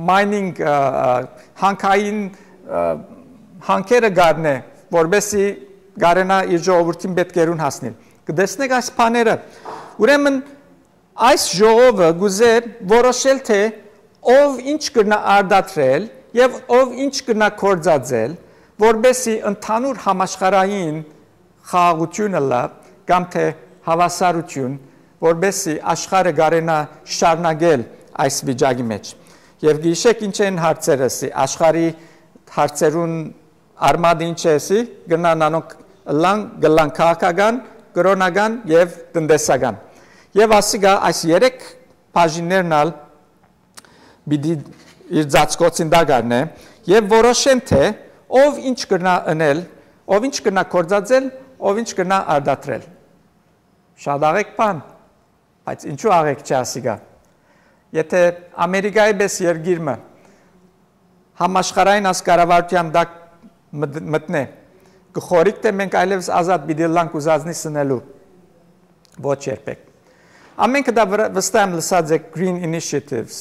mining, ը, ը, հանքային, ը, հանքերը գարնէ, որպէսզի կարենայ իր ժողովուրդին պէտքերուն հասնիլ։ Կը տեսնեք այս բաները։ Ուրեմն այս ժողովը կ'ուզէ որոշել, թէ ով ինչ կրնայ արտադրել եւ ով ինչ կրնայ գործածել, որպէսզի ընդհանուր համաշխարհային խաղաղութիւն ըլլայ կամ թէ հաւասարութիւն, որպէսզի աշխարհը կարենայ շարունակել այս վիճակի մէջ։ Եւ գիշեք ինչ են հարցերը, սի աշխարհի հարցերուն արմատը ինչ է, սի կրնան անոնք ըլլան, կ'ըլլան քաղաքական, կրօնական եւ տնտեսական։ Եւ ասիկա այս երեք բաժիններն ալ պիտի իր ծածկոցին տակ առնէ եւ որոշեն, թէ ով ինչ կրնայ ընել, ով ինչ կրնայ գործածել, ով ինչ կրնայ արտադրել։ Շատ աղեկ բան, բայց ինչու աղեկ չէ ասիկա։ Եթե Ամերիկայի պէս երկիր մը համաշխարհային այս կառավարութեան տակ մտ-, մտնէ, կը խորհիք, թէ մենք այլեւս ազատ պիտի ըլլանք ուզածնի սնելու։ Ոչ երբեք։ Ամենքը դա վրա-, վստահ եմ լսած եք Green Initiatives,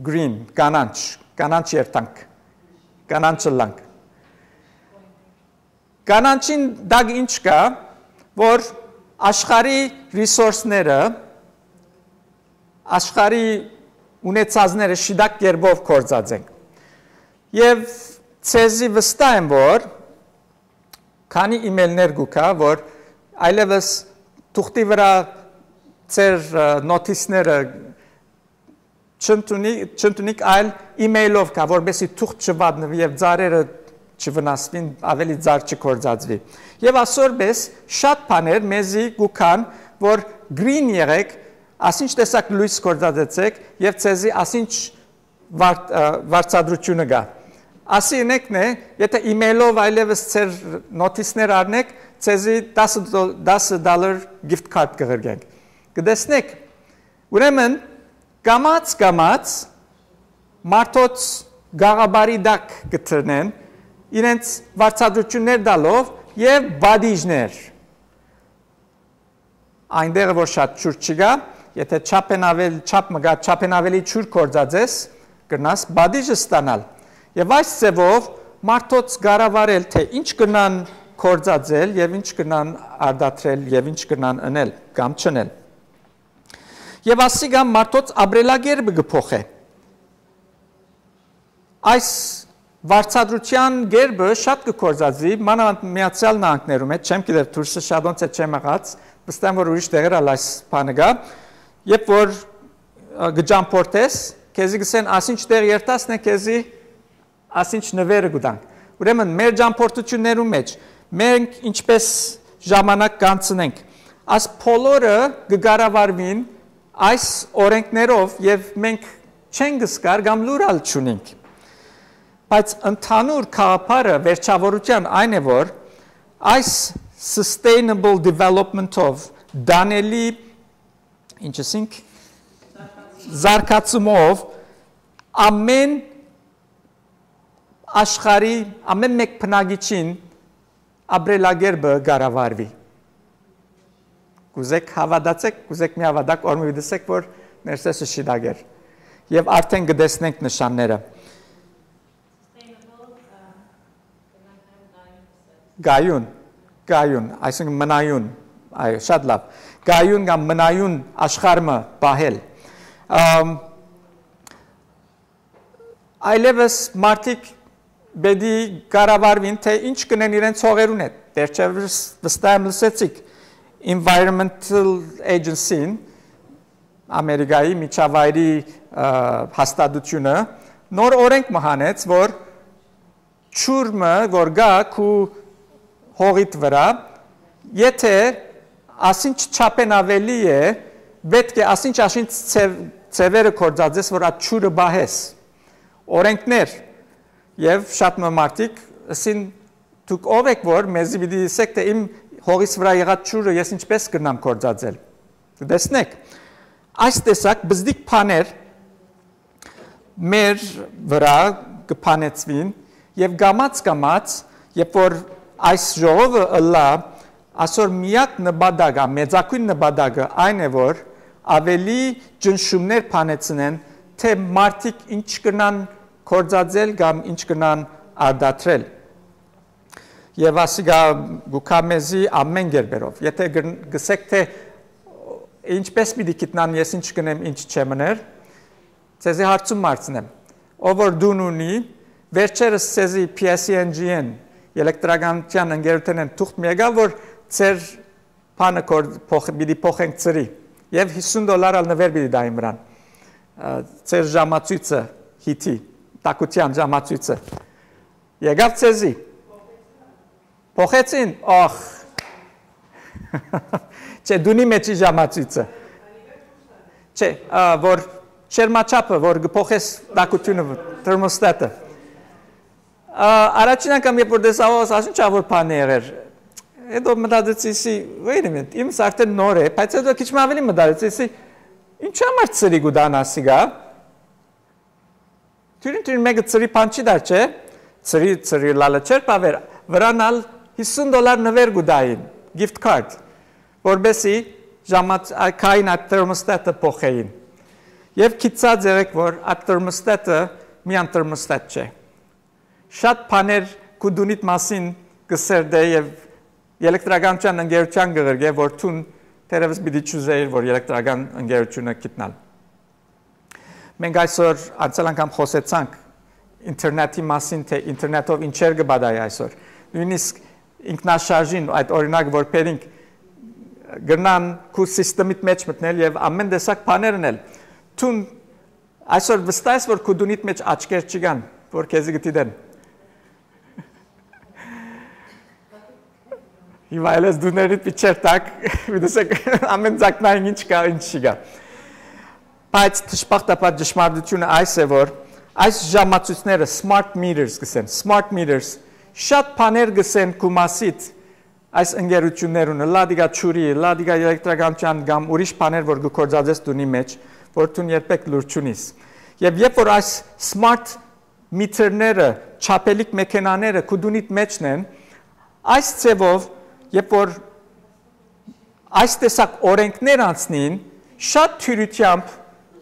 Green, կանանչ, կանանչ երթանք, կանանչ ըլլանք։ Կանանչին տակ ինչ կայ, որ աշխարհի ռիսորսները, աշխարհի ունեցածները շիտակ կերպով կործած ենք։ Եւ ձեզի վստահ եմ, որ քանի email-ներ կու գայ, որ այլեւս թուղթի վրա ձեր, ը, նոթիսները չընդունի-, չընդունիք, այլ email-ով կայ, որպեսզի թուղթ չվատնվի եւ ծառերը չվնասվին, ավելի ծառ չկործածվի։ Եւ ասոր պէս շատ բաներ մեզի կու գան, որ green եղեք, ասինչ տեսակ լոյս կործածեցեք եւ ձեզի ասինչ վար-, ը, վարձատրությունը կայ։ Ասի ինեքն է, եթե email-ով այլեւս ձեր նոթիսներ առնեք, ձեզի տասը դո-, տասը dollar gift card կղրկենք։ Կտեսնեք, ուրեմն կամաց-կամաց մարդոց գաղաբարի տակ կտրնեն, իրենց վարձատրություններ տալով եւ պատիժներ։ Այնտեղը որ շատ ջուր չկայ, եթե չափ են ավել-, չափ մը կայ, չափ են ավելի ջուր կործածես, կրնաս պատիժ ստանալ։ Եւ այս ձևով մարդոց կառավարել, թէ ինչ կրնան կործածել եւ ինչ կրնան արտադրել եւ ինչ կրնան ընել կամ չընել։ Եւ ասիկա մարդոց ապրելակերպը կը փոխէ։ Այս վարձատրության կերպը շատ կը կործածի, մանավանդ Միացյալ Նահանգներու մեջ, չեմ գիտեր դուրսը շատոնց է չեմ եղած, վստահ եմ որ ուրիշ տեղեր ալ այս բանը կայ, երբ որ, ը, կը ճամփորդես, քեզի կսեն, ասինչ տեղ երթասն է, քեզի ասինչ նվերը կու տանք։ Ուրեմն, մեր ճամփորդութիւններուն մէջ մենք ինչպէս ժամանակ կանցնենք, այս բոլորը կը կառավարուին այս օրենքներով եւ մենք չենք զգար կամ լուր ալ չունենք։ Բայց ընդհանուր գաղափարը վերջավորութեան այն է, որ այս sustainable development-ով, տանելի, ինչ ասինք, զարգացումով ամեն աշխարհի, ամեն մէկ բնակիչին ապրելակերպը կառավարուի։ Կուզեք հաւատացեք, կուզեք մի հաւատակ, որ մի դսեք, որ ներսեսը շիտակ էր։ Եւ արդեն կտեսնենք նշանները։ Գայուն, գայուն, այսինքն մնայուն, այո, շատ լավ։ Գայուն կամ մնայուն աշխարհը պահել։ Ամ, այլևս մարդիկ պէտի կառավարուին, թե ինչ կնեն իրենց հողերուն հետ։ Վերջերս վստահ եմ լսեցիք Environmental Agency-ն, Ամերիկայի միջավայրի, ը, հաստատութիւնը, նոր օրենք մը հանեց, որ ջուրը, որ գայ քու հողիդ վրայ, եթե ասինչ չափէն աւելի է, պէտք է ասինչ, ասինչ ձեւ-, ձեւերը գործածես, որ այդ ջուրը պահես։ Օրենքներ, եւ շատ մը մարդիկ ըսին, «Դուք ով էք, որ մեզի պիտի ըսեք, թէ իմ հողիս վրայ եղած ջուրը ես ինչպէս կրնամ գործածել»։ Կտեսնեք, այս տեսակ բզդիկ բաներ մեր վրայ կը փանեցուին եւ կամաց-կամաց, երբ որ այս ժողովը ըլլայ, ասոր միակ նպատակը, մեծագոյն նպատակը այն է, որ աւելի ճնշումներ փանեցնեն, թէ մարդիկ ինչ կրնան գործածել կամ ինչ կրնան արտադրել։ Եւ ասիկա գուքա մեզի ամեն կերպերով։ Եթե գր-, գսեք, թէ ինչպէս պիտի գիտնան ես ինչ կնեմ, ինչ չեմ ըներ, ձեզի հարցում մարցնեմ։ Ով որ դուն ունի, վերջերս ձեզի P S E N G-ն, էլեկտրականության ընկերութենէն թուղթ մի եկա, որ ձեր բանը կոր-, փոխ-, պիտի փոխենք ծրի։ Եւ հիսուն դոլար ալ նվեր պիտի դային վրան։ Ա, ձեր ժամացույցը, հիթի, տակության ժամացույցը։ Եկավ ձեզի։ Փոխեցին, ախ։ Չէ, դունի մեջի ժամացույցը։ Չէ, ա, որ չերմաչափը, որ կփոխես տակությունը, թերմոստատը։ Ա, առաջին անգամ, երբ որ տեսա, ասա, «Ինչ ա որ բան է եղեր»։ Հետո մտածեցի, սի, «Wait a minute, իմս արդեն նոր է», բայց հետո քիչ մը ավելի մտածեցի, սի, «Ինչ համար ծրի կու տան ասիկա»։ Թուրին, թուրին մեկը ծրի բան չի դար, չէ՞։ Ծրի, ծրի լալը չէր պավեր, վրան ալ հիսուն դոլար նվեր կու տային, gift card, որպեսի ժամաց-, ա, քային այդ թերմոստատը փոխեին։ Եւ գիտցած եղեք, որ այդ թերմոստատը միան թերմոստատ չէ։ Շատ բաներ քու դունիդ մասին կը սերտէ եւ էլեկտրականության ընկերության կը ղրկէ, որ դուն թերեւս պիտի չուզեիր, որ էլեկտրական ընկերությունը գիտնալ։ Մենք այսօր անցյալ անգամ խօսեցանք ինտերնետի մասին, թէ ինտերնետով ինչեր կը պատահի այսօր։ Նոյնիսկ ինքնաշարժին, այդ օրինակ որ բերինք, կրնան քու սիստեմիդ մեջ մտնել եւ ամեն տեսակ բաներ ընել։ Դուն այսօր վստահ ես, որ քու դունիդ մեջ աչքեր չկան, որ քեզի կը դիտեն։ Հիմա էլ ես դուներիդ պիչեր տակ, մի տեսեք, ամեն ձակնային ինչ կա, ինչ չի կա։ Բայց դժբախտաբար ճշմարտությունը այս է, որ այս ժամացույցները, smart meters կսեն, smart meters, շատ բաներ կսեն քու մասիդ այս ընկերություններուն, լադիգա ջուրի, լադիգա էլեկտրականության կամ ուրիշ բաներ, որ կը գործածես դունի մեջ, որ դուն երբեք լուր չունիս։ Եւ երբ որ այս smart meter-ները, չափելիք մեքենաները քու դունիդ մեջն են, այս ձևով, երբ որ այս տեսակ օրենքներ անցնին, շատ թիւրությամբ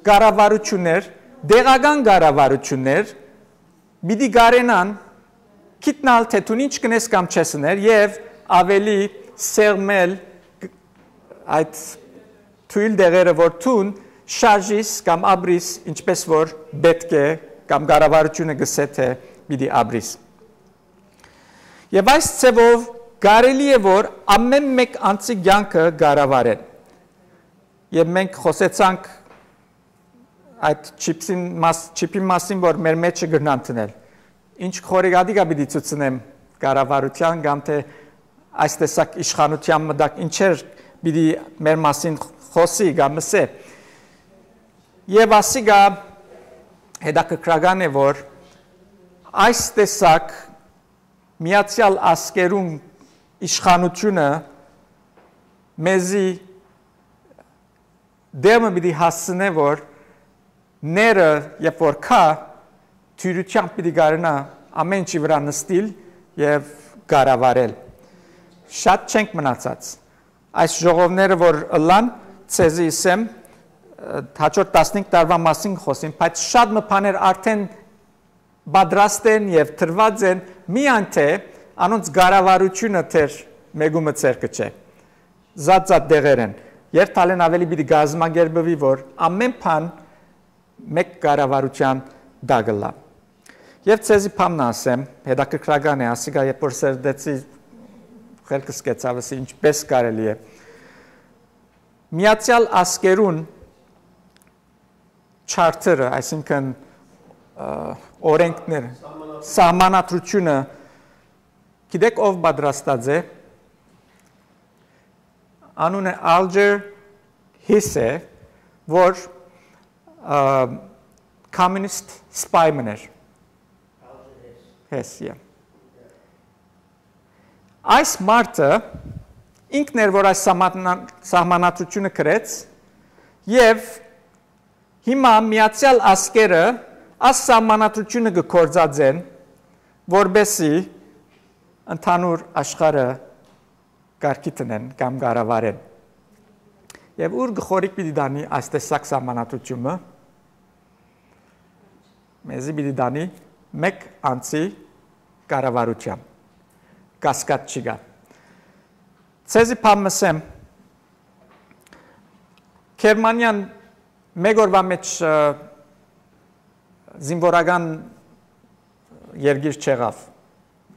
կառավարություններ, տեղական կառավարություններ պիտի կարենան գիտնալ, թէ դուն ինչ կնես կամ չես ըներ, եւ աւելի սեղմել այդ թոյլ դեղերը, որ դուն շարժիս կամ ապրիս, ինչպես որ պէտք է, կամ կառավարությունը կսէ, թէ պիտի ապրիս։ Եւ այս ձևով կարելի է, որ ամեն մէկ անձի կյանքը կառավարեն։ Եւ մենք խօսեցանք այդ չիպսին մաս-, չիպին մասին, որ մեր մեջը կրնան դնել։ Ինչ խորհրդատիկա պիտի ցուցնեմ կառավարութեան կամ թէ այս տեսակ իշխանութեան մը տակ ինչեր պիտի մեր մասին խօսի կամ ըսէ։ Եւ ասիկա հետաքրքրական է, որ այս տեսակ միացեալ ազգերուն իշխանութիւնը մեզի դերմը պիտի հասցնէ, որ ները, երբ որ կայ, դիւրութեամբ պիտի կարենայ ամէն ինչի վրայ նստիլ եւ կառավարել։ Շատ չենք մնացած։ Այս ժողովները որ ըլլան, ցեզի ըսեմ, հաջորդ տասնհինգ տարուան մասին կը խօսին, բայց շատ մը բաներ արդէն պատրաստ են եւ տրուած են, միայն թէ անոնց կառավարութիւնը թեր մեկումը ձեռքը չէ։ Զատ-զատ դեղեր են։ Երթալէն աւելի պիտի կազմակերպուի, որ ամէն բան մէկ կառավարութեան տակ ըլլայ։ Եւ ցեզի բան մը ասեմ, հետաքրքրական է, ասիկա երբ որ սերտեցի, խելքս կեցաւ, ըսի, ինչպէս կարելի է։ Միացեալ ազգերուն չարթերը, այսինքն, ը, օրենքները, սահմանադրությունը, գիտեք ով պատրաստած է, անունը Ալջեր Հիս է, որ, ը, communist spy մըն էր։ Հես, yeah։ Այս մարդը ինքն էր, որ այս սահմանա-, սահմանադրությունը գրեց, եւ հիմա Միացեալ Ազգերը այս սահմանադրությունը կը գործածեն, որպեսզի ընդհանուր աշխարհը կարգի դնեն կամ կառավարեն։ Եւ ո՞ւր գլխորիկ պիտի տանի այս տեսակ սահմանադրությունը։ Մեզի պիտի տանի մէկ անձի կառավարութեան։ Կասկած չի գա։ Ցեզի բան մը ըսեմ, Գերմանիան մէկ օրուան մէջ, ը, զինուորական երկիր չեղաւ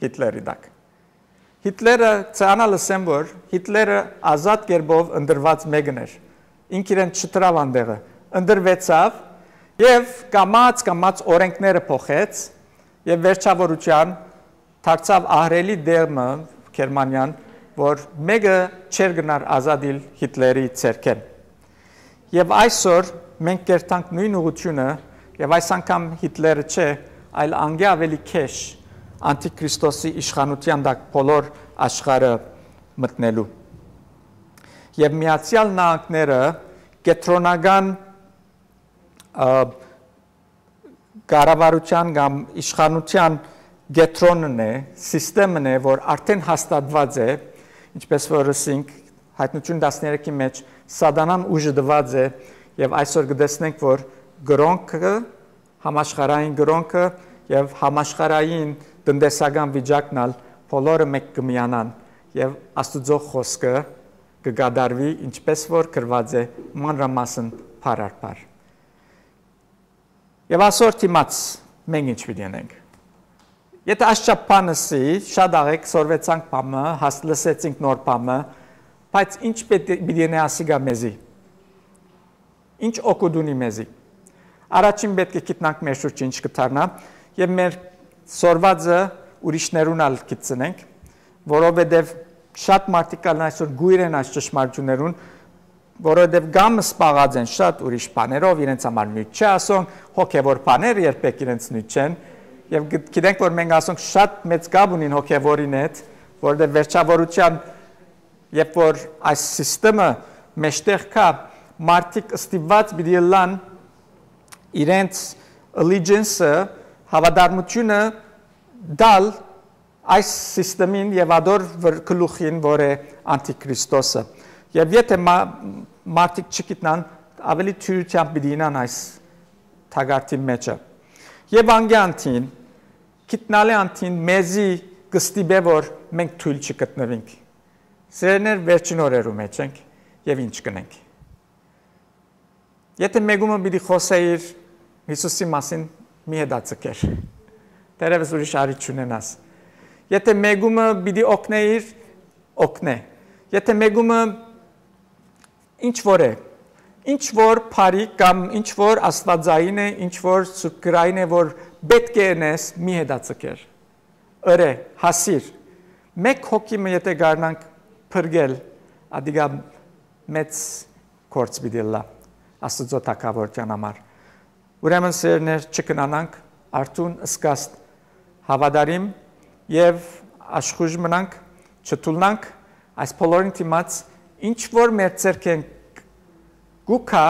Հիտլերի տակ։ Հիտլերը, ցանալ ըսեմ, որ Հիտլերը ազատ կերպով ընտրուած մեկն էր։ Ինք իրեն չտրաւ անտեղը, ընտրուեցաւ եւ կամաց-կամաց օրենքները փոխեց եւ վերջավորութեան դարձաւ ահռելի դերմը Գերմանիան, որ մէկը չէր գնար ազատիլ Հիտլերի ձեռքէն։ Եւ այսօր մենք կերտանք նոյն ուղղութիւնը, եւ այս անգամ Հիտլերը չէ, այլ անկէ աւելի քեշ անտիքրիստոսի իշխանութեան տակ բոլոր աշխարհը մտնելու։ Եւ Միացեալ Նահանգները կեդրոնական, ը, կառավարութեան կամ իշխանութեան կեդրոնն է, սիստեմն է, որ արդէն հաստատուած է, ինչպես որ ըսինք, Հայտնութիւն տասներեքի մէջ Սատանան ուժը տուած է, եւ այսօր կը տեսնենք, որ կրօնքը, համաշխարհային կրօնքը եւ համաշխարհային տնտեսական վիճակն ալ բոլորը մէկ կը միանան եւ Աստուծոյ խօսքը կը կատարուի, ինչպես որ գրուած է մանրամասն բառ առ բառ։ Եւ ասոր դիմաց մենք ինչ պիտի ընենք։ Եթէ այս չափ բան ըսի, շատ աղեկ սորվեցանք բամը, հաս-, լսեցինք նոր բամը, բայց ինչ պիտի, պիտի ընէ ասիկա մեզի։ Ինչ օգուտ ունի մեզի։ Առաջին պէտք է գիտնանք մեր շուրջը ինչ կը դառնայ եւ մեր սորվածը ուրիշներուն ալ գիտցնենք, որովհետեւ շատ մարդիկ կան այսօր գոյր են այս ճշմարտություններուն, որովհետեւ կամ սպաղած են շատ ուրիշ բաներով, իրենց համար նոյթ չէ ասոնք, հոգեվոր բաներ երբեք իրենց նոյթ չեն, եւ գ-, գիտենք, որ մենք ասոնք շատ մեծ կապ ունին հոգեվորին հետ, որովհետեւ վերջավորության, երբ որ այս սիստեմը մեջտեղ կայ, մարդիկ ստիպված պիտի ըլլան իրենց allegiance-ը, հաւատարմութիւնը տալ այս սիստեմին եւ ադոր վր-, գլուխին, որ է անտիքրիստոսը։ Եւ եթէ մա-, մարդիկ չգիտնան, աւելի թիւրութեամբ պիտի ինան այս թակարդին մեջը։ Եւ անկեանտին, գիտնալի անտին մեզի կստիպէ, որ մենք թոյլ չգտնուինք։ Սիրելիներ, վերջին օրերու մէջ ենք եւ ինչ կնենք։ Եթէ մեկումը պիտի խօսէիր Յիսուսի մասին, մի հետաձգեր։ Դեռևս ուրիշ առիթ չունենաս։ Եթէ մեկումը պիտի օգնէիր, օգնէ։ Եթէ մեկումը ինչ որ է, ինչ որ բարի կամ ինչ որ աստուածային է, ինչ որ սուրբ գրային է, որ պէտք է ընես, մի հետաձգեր։ Ըրէ, հասիր։ Մէկ հոգի մը եթէ կարնանք փրկել, ադիկա մեծ գործ պիտի ըլլայ Աստուծոյ թագաւորութեան համար։ Ուրեմն, սիրելիներ, չքնանանք, արթուն, զգաստ, հաւատարիմ եւ աշխուժ մնանք, չթուլնանք, այս բոլորին դիմաց, ինչ որ մեր ձեռքէն կու գայ,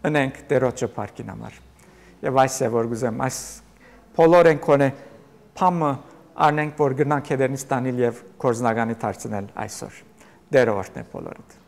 ընենք Տէրոջը փառքին համար։ Եւ այս է, որ կ'ուզեմ, այս բոլոր են քոնէ փամը առնենք, որ կրնանք հետերնից տանիլ եւ գործնականի դարձնել այսօր։ Տէրը օրհնէ բոլորդ։